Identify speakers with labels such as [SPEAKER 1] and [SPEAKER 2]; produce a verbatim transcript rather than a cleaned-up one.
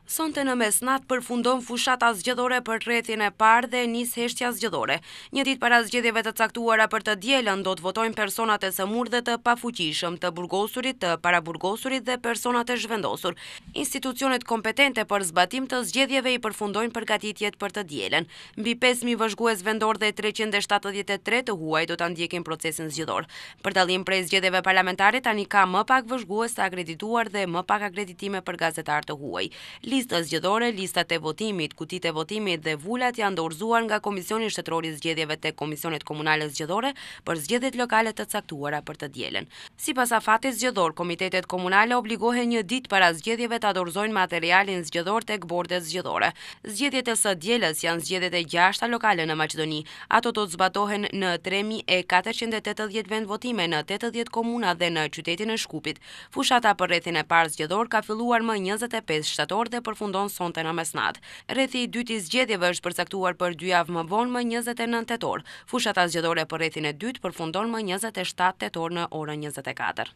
[SPEAKER 1] Sonte në mesnatë përfundon fushata zgjedhore për rrethin e parë dhe nis heshtja zgjedhore. Një ditë para zgjedhjeve të caktuara për të dielën do të votojnë personat e sëmurë dhe të pafuqishëm, të burgosurit, të paraburgosurit dhe personat e zhvendosur. Institucionet kompetente për zbatim të zgjedhjeve i përfundojnë përgatitjet për të dielën. Mbi pesë mijë vëzhgues vendor dhe treqind e shtatëdhjetë e tre të huaj do ta ndjekin procesin zgjedhor. Për dallim prej zgjedhjeve parlamentare, tani ka më pak vëzhgues të akredituar dhe më pak akreditime për gazetar të huaj. Lista zgjedhore, listat e votimit, kutitë e votimit dhe vulat janë dorëzuar nga Komisioni Shtetëror i Zgjedhjeve te Komisionet Komunale Zgjedhore për zgjedhjet lokale të caktuara për të dielën. Sipas afatit zgjedhor, komitetet komunale obligohen një ditë para zgjedhjeve ta dorëzojnë materialin zgjedhor tek bordet zgjedhore. Zgjedhjet e së dielës janë zgjedhjet e gjashta lokale në Maqedoni. Ato do të zbatohen në tre mijë e katërqind e tetëdhjetë vendvotime në tetëdhjetë komuna dhe në qytetin e Shkupit. Fushata për rrethin e parë zgjedhor ka filluar më njëzet e pesë shtator dhe përfundon sonte në mesnatë. Rrethi i dytë i zgjedhjeve është përcaktuar për dy javë më vonë, më njëzet e nëntë tetor. Fushata zgjedhore për rrethin e dytë përfundon më njëzet e shtatë tetor në orën njëzet e katër.